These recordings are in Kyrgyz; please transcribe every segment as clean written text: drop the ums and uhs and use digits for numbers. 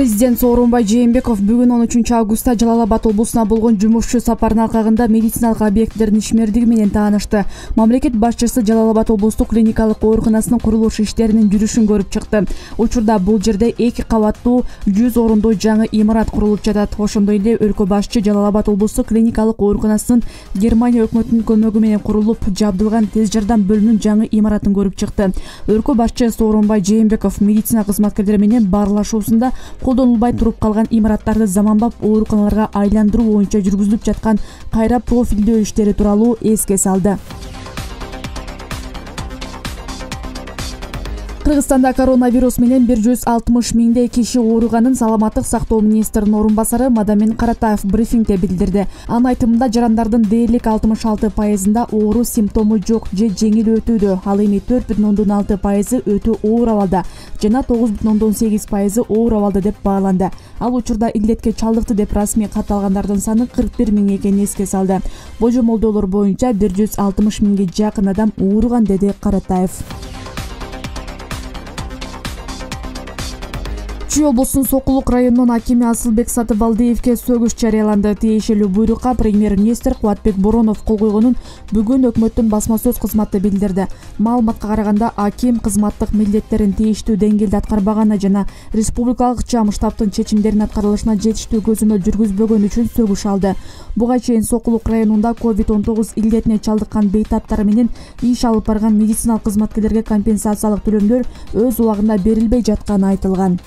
Президент Сооронбай Жээнбеков бүгүн 13 августта Жалал Абад облусуна болгон жумушчу сапарынын алкагында медициналык объектилердин ишмердиги менен таанышты. Мамлекет башчысы Жалал Абад облустук клиникалык ооруканасынын курулуш иштеринин жүрүшүн көрүп чыкты. Учурда бул жерде 2 кабаттуу 100 орундуу жаңы имарат курулуп жатат. Ошондой эле өлкө башчы Жалал Абад облустук клиникалык ооруканасынын Германия өкмөтүнүн көмөгү менен курулуп жабдылган тез жардам бөлүмүнүн жаңы имаратын көрүп чыкты. Өлкө башчы Сооронбай Жээнбеков медицина кызматкерлери менен баарлашуусунда колдонулбай туруп калган имараттарды заманбап ооруканаларга айландыруу боюнча жүргүзүлүп жаткан кайра профилдөө иштери тууралуу эске салды. Кыргызстанда коронавирус менен 160 миңдей киши ооруганын саламаттык сактоо министринин орун басары Мадамин Каратаев брифингде билдирди. Анын айтымында жарандардын дээрлик 66%-ында оору симптому жок же жеңил өтүүдө, ал эми 4,6% өтө оор абалда жана 9,8% оор абалда деп бааланды. Ал учурда илдетке чалдыкты деп расмий катталгандардын саны 41 миң экенин эске салды. Божомолдоолор боюнча 160 миңге жакын адам ооруган, деди Каратаев. Чүй облусунун Сокулук районунун акими Асылбек Сатыбалдиевке сөгүш жарыяланды. Тиешелүү буйрукка премьер-министр Кубатбек Боронов кол койгонун бүгүн өкмөттүн басма сөз кызматы билдирди. Маалыматка караганда, аким кызматтык милдеттерин тийиштүү деңгээлде аткарбаганы жана республикалык ЧАМ штабтын чечимдеринин аткарылышына жетиштүү көзөмөл жүргүзбөгөнү үчүн сөгүш алды. Буга чейин Сокулук районунда COVID-19 илдетине чалдыккан бейтаптар менен иш алып барган медициналык кызматкерлерге компенсациялык төлөмдөр өз убагында берилбей жатканы айтылган.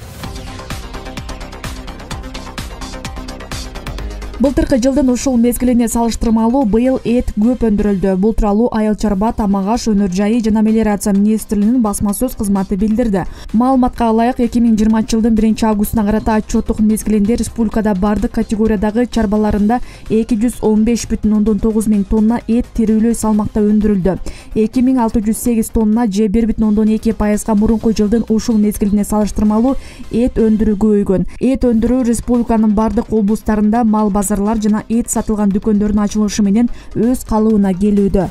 Былтыркы жылдын ушул мезгилине салыштырмалуу быйыл эт көп өндүрүлдү. Бул тууралуу Айыл чарба, тамак аш, өнөр жайы жана мелиорация министрлигинин басма сөз кызматы билдирди. Маалыматка ылайык 2020 жылдын 1-августуна карата отчеттук мезгилинде республикада бардык категориядагы чарбаларында 215,9 миң тонна эт тирүүлөй салмакта өндүрүлдү. 2608 тонна же 1,2%га мурунку жылдын ушул мезгилине салыштырмалуу эт өндүрүү көбөйгөн. Эт өндүрүү республиканын бардык облустарында мал базарлар жана эт сатылган дүкөндөрдүн ачылышы менен өз калыбына келүүдө.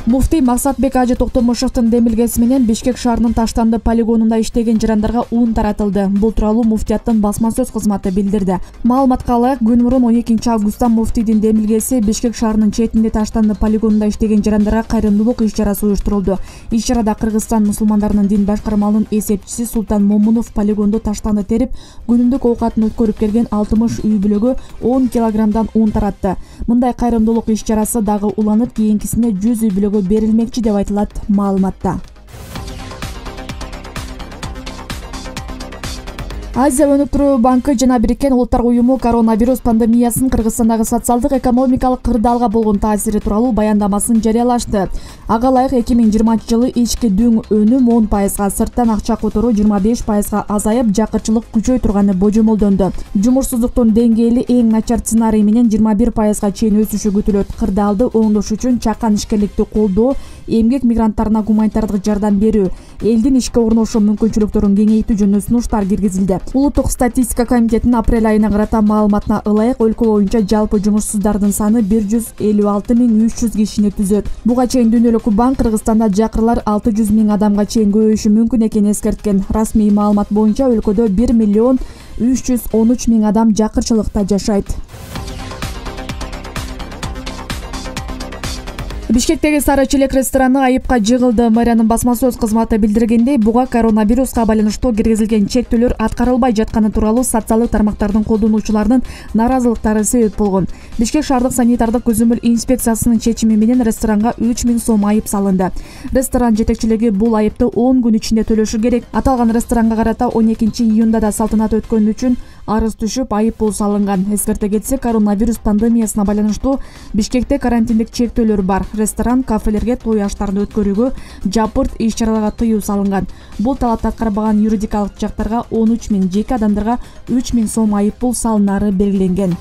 Муфтий Максатбек Ажы Токтомушевдин демилгеси менен Бишкек шаарынын Таштанды полигонунда иштеген жарандарга ун таратылды. Бул тууралуу муфтияттын басма сөз кызматы билдирди. Маалыматка ылайык, күн мурун 12 августта муфтийдин демилгеси Бишкек шаарынын четинде Таштанды полигонунда иштеген жарандарга кайрымдуулук иш-чарасы уюштурулду. Иш-чарада Кыргызстан мусулмандарынын дин башкармалынын эсепчиси Султан Момунов полигондо таштанды терип, күнүмдүк оокатын өткөрүп келген 60 үй бүлөгө 10 килограммдан ун таратты. Мындай кайрымдуулук иш-чарасы дагы уланып, кийинкисинде 100 үй бүлөгө берилмекчи деп айтылат маалыматта. Азия өнүктүрүү банкы жана Бириккен Улуттар уюму коронавирус пандемиясынын Кыргызстандагы социалдык экономикалык кырдаалга болгон таасири тууралуу баяндамасын жарыялашты. Ага ылайык 2020 жылы ички дүң өнүм 10%, сырттан акча которуу 25%га азайып, жакырчылык күчөй турганы божомолдонду. Жумушсуздуктун деңгээли эң начар сценарий менен 21%га чейин өсүшү күтүлөт. Кырдаалды оңдош үчүн чакан ишкерликти колдоо, эмгек мигранттарына гуманитардык жардам берүү, элдин ишке орношуу мүмкүнчүлүктөрүн кеңейтүү жөнүндө сунуштар киргизилди. Улуттук статистика комитетинин апрель айына карата маалыматына ылайык, өлкө боюнча жалпы жумушсуздардын саны 156,300 кишини түзөт. Буга чейин Дүйнөлүк банк Кыргызстанда жакырлар 600 миң адамга чейин көбөйүшү мүмкүн экенин эскерткен. Расмий маалымат боюнча өлкөдө 1,313 миң адам жакырчылыкта жашайт. Бишкектеги Сары Челек рестораны айыпка жыгылды. Мэриянын басма сөз кызматы билдиргендей, буга коронавируска байланыштуу киргизилген чектөөлөр аткарылбай жатканы тууралуу социалдык тармактардын колдонуучуларынын наразылыктары себеп болгон. Бишкек шаардык санитардык көзөмөл инспекциясынын чечими менен ресторанга 3 миң сом айып салынды. Ресторан жетекчилиги бул айыпты 10 күн ичинде төлөшү керек. Аталган ресторанга карата 12 июнда да салтанат өткөн үчүн арыз түшүп, айып пул салынган. Эскерте кетсек, коронавирус пандемиясына байланыштуу Бишкекте карантиндик чектөөлөр бар. Ресторан, кафелерге той аштарын өткөрүүгө, жапырт иш-чараларга тыюу салынган. Бул талапты аткарбаган юридикалык жактарга 13 миң, жеке адамдарга 3 миң сом айып пул салынары белгиленген.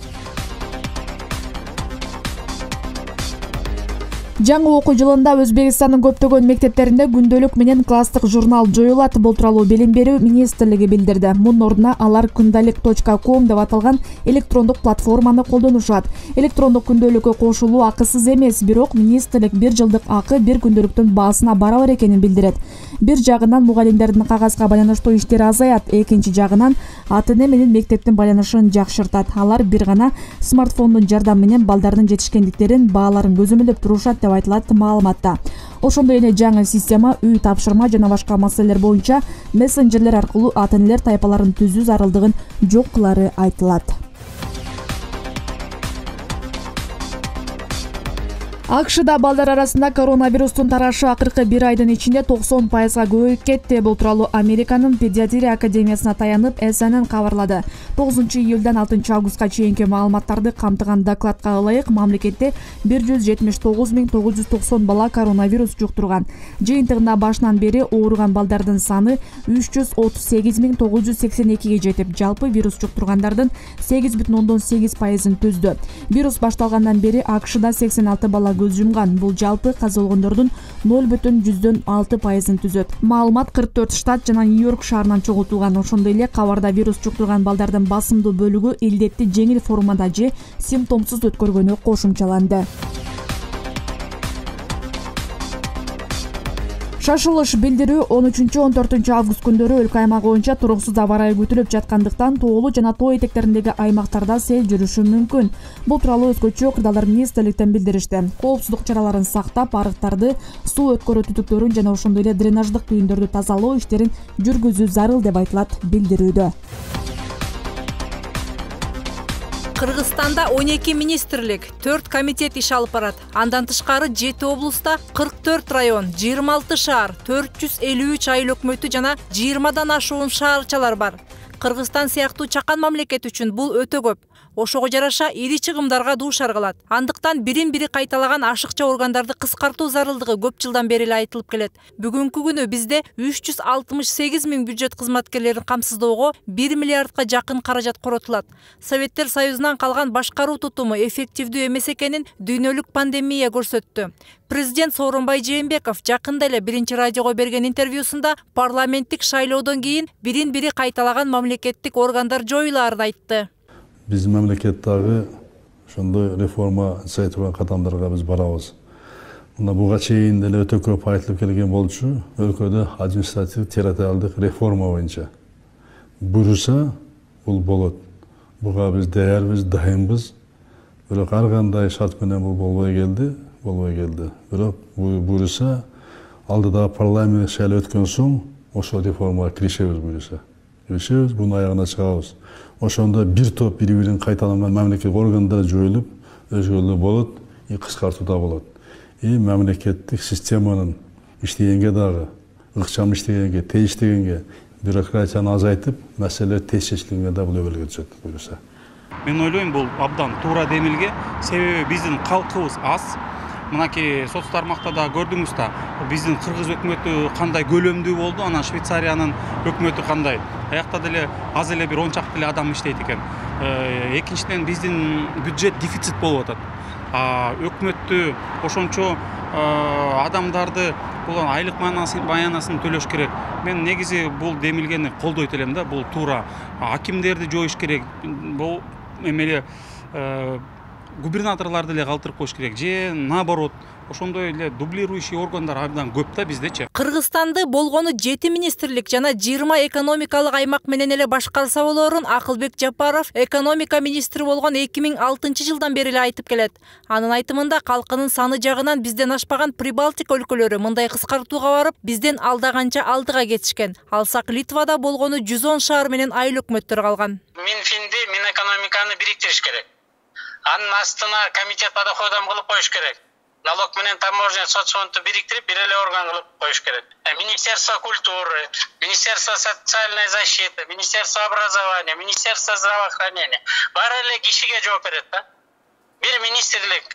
Жаңы окуу жылында Өзбекстандын көптөгөн мектептеринде күндөлүк менен класстык журнал жоюлат. Бул тууралуу Билим берүү министрлиги билдирди. Мунун ордуна алар kundalik.com деп аталган электрондук платформаны колдонушат. Электрондук күндөлүккө кошулуу акысыз эмес, бирок министрлик 1 жылдык акы бир күндөлүктүн баасына барабар экенин билдирет. Бир жагынан мугалимдердин кагазга байланыштуу иштери азаят, экинчи жагынан ата-эне менен мектептин байланышын жакшыртат. Алар бир гана смартфондун жардамы менен балдардын жетишкендиктерин, бааларын көзөмөлдөп турушат деп айтылат маалыматта. Ошондой эле жаңы система үй тапшырма жана башка маселелер боюнча мессенджерлер аркылуу ата-энелер тайпаларын түзүү зарылдыгын жок кылары айтылат. АКШда балдар арасында коронавирустун тарашы акыркы 1 айдын ичинде 90%га көбөйүп кетти. Бул тууралуу Американын педиатрия академиясына таянып CNN кабарлады. 9-июлдан 6-августка чейинки маалыматтарды камтыган докладка ылайык мамлекетте 179.990 бала коронавирус жуктурган. Жыйынтыгында башынан бери ооруган балдардын саны 338.982ге жетип, жалпы вирус жуктургандардын 8,8%-ын түздү. Вирус башталгандан бери АКШда 86 бала көз жумган. Бул жалпы каза болгондордун 0,6%-ын түзөт. Маалымат 44 штат жана Нью-Йорк шаарынан чогултулган. Ошондой эле кабарда вирус жуктурган балдардын басымдуу бөлүгү илдетти жеңил формада же симптомсуз өткөргөнү кошумчаланды. Шашылыш билдирүү 13-14 август күндөрү өлкө аймак боюнча туруксуз аба ырайы күтүлүп жаткандыктан тоолуу жана тоо этектериндеги аймактарда сел жүрүшү мүмкүн. Бул тууралуу өзгөчө кырдаалдар министрликтен билдиришти. Коопсуздук чараларын сактап, арыктарды, суу өткөрүү түтүктөрүн жана ошондой эле дренаждык түйүндөрдү тазалоо иштерин жүргүзүү зарыл деп айтылат билдирүүдө. Кыргызстанда 12 министрлик, 4 комитет иш алып барат. Андан тышкары 7 облуста 44 район, 26 шаар, 453 айыл өкмөтү жана 20дан ашуун шаарчалар бар. Кыргызстан сыяктуу чакан мамлекет үчүн бул өтө көп. Ошого жараша ири чыгымдарга дуушар кылат. Андыктан бирин-бири кайталаган ашыкча органдарды кыскартуу зарылдыгы көп жылдан бери эле айтылып келет. Бүгүнкү күнү бизде 368 000 бюджет кызматкерлерин камсыздоого 1 миллиардка жакын каражат коротулат. Советтер Союзунан калган башкаруу тутуму эффективдүү эмес экенин дүйнөлүк пандемия көрсөттү. Президент Сооронбай Жээнбеков жакында эле Биринчи радиого берген интервьюсунда парламенттик шайлоодон кийин бирин-бири кайталаган мамлекеттик органдар жоюлаарын айтты. Биздин мамлекеттеги ошондой реформа жасай турган кадамдарга биз барабыз. Мына буга чейин деле өтө көп айтылып келген болчу, өлкөдө административдик территориалдык реформа боюнча. Буюрса, бул болот. Буга биз даярбыз, дайынбыз. Бирок ар кандай шарт менен бул болбой келди. Бирок буюрса, алдыда парламент шайлоо өткөн соң ошол реформага киришебиз буюрса. Киришебиз, бунун аягына чыгабыз. Ошондо бир топ бири-бирин кайталанган мамлекеттик органдар жоюлуп, өзгөрүүлөр болот, кыскартуу болот. Мамлекеттик системанын иштегенге дагы, ыкчам иштегенге, тез иштегенге, бюрократияны азайтып, маселелер тез чечилгенге да бул өбөлгө түшөт буюрса. Мен ойлойм, бул абдан туура демилге, себеби биздин калкыбыз аз. Мынакей соц тармакта да көрдүңүз да, биздин кыргыз өкмөтү кандай көлөмдүү болду, анан Швейцариянын өкмөтү кандай. Аякта деле аз эле бир 10 чакты эле адам иштейт экен. Экинчиден биздин бюджет дефицит болуп атат. Өкмөттү ошончо адамдарды бул айлык маянасын төлөш керек. Мен негизи бул демилгени колдойт элем да, бул туура. Акимдерди жоюш керек. Бул эмеле губернаторларды эле калтырып коюш керек же наоборот. Ошондой эле дублирующий органдар абдан көп да биздечи. Кыргызстанды болгону 7 министрлик жана 20 экономикалык аймак менен эле башкарса болорун Акылбек Жапаров экономика министри болгон 2006-жылдан бери эле айтып келет. Анын айтымында калкынын саны жагынан бизден ашпаган Прибалтика өлкөлөрү мындай кыскартууга барып, бизден алдаганча алдыга кетишкен. Алсак Литвада болгону 110 шаар менен айыл өкмөттөр калган. Минфинди, Минэкономиканы бириктириш керек. Анын астына комитет по доходам кылып коюш керек. Налог менен таможня соцфондду бириктирип бир эле орган кылып коюш керек. Министерство культуры, Министерство социальной защиты, Министерство образования, Министерство здравоохранения баары эле кишиге жооп берет да. Бир министрлик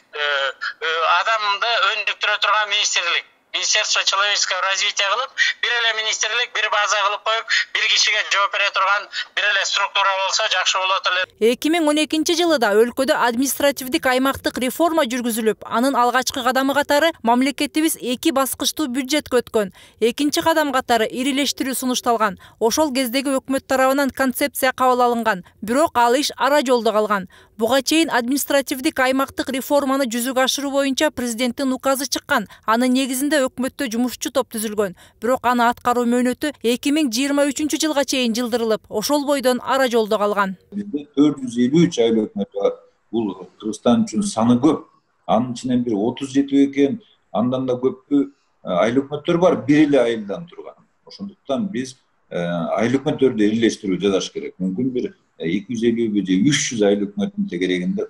адамды өнүктүрө турган министрлик. Министерство человеческого развития кылып, бир эле министрлик, бир база кылып коюп, бир кишиге жооп бере турган бир эле структура болсо жакшы болот эле. 2012 жылы да өлкөдө административдик аймактык реформа жүргүзүлүп, анын алгачкы кадамы катары мамлекетибиз 2 баскычтуу бюджетке өткөн. Экинчи кадам катары ирилештирүү сунушталган. Ошол кездеги өкмөт тарабынан концепция кабыл алынган, бирок ал иш ара жолдо калган. Буга чейин административдик аймактык реформаны жүзүгө ашыруу боюнча президенттин указы чыккан. Анын негизинде өкмөттө жумушчу топ түзүлгөн. Бирок аны аткаруу мөөнөтү 2023 жылга чейин жылдырылып, ошол бойдон ара жолдо калган. Бизде 453 айыл өкмөтү бар. Бул Кыргызстан үчүн саны көп. Анын ичинен бир 30 жетип экен, андан да көппү айыл өкмөттөр бар, бир эле айылдан турган. Ошондуктан биз айыл өкмөттөрдү ирилештирүү жасаш керек. Мүмкүн бир 250 же 300 айыл өкмөттүн тегерегинде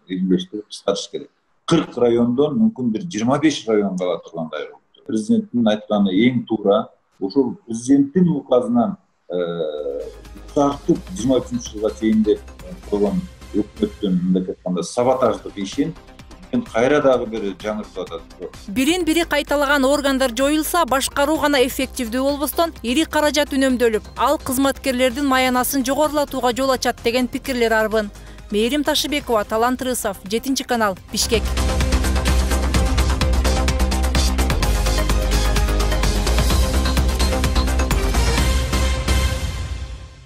ирилештирип кыскартыш керек. 40 райондон мүмкүн бир 25 район кала тургандай. Президенттин айтканы эң туура. Ошол президенттин указынан тартып 23 жылга чейин деп койгон өкмөттүн мындай айтканда саботаждык ишин кайра дагы бир жаңыртып атат. Бирин-бири кайталаган органдар жоюлса, башкаруу гана эффективдүү болбостон, ири каражат үнөмдөлүп, ал кызматкерлердин маянасын жогорулатууга жол ачат деген пикирлер арбын. Мээрим Ташыбекова, Талант Рысов, 7 канал, Бишкек.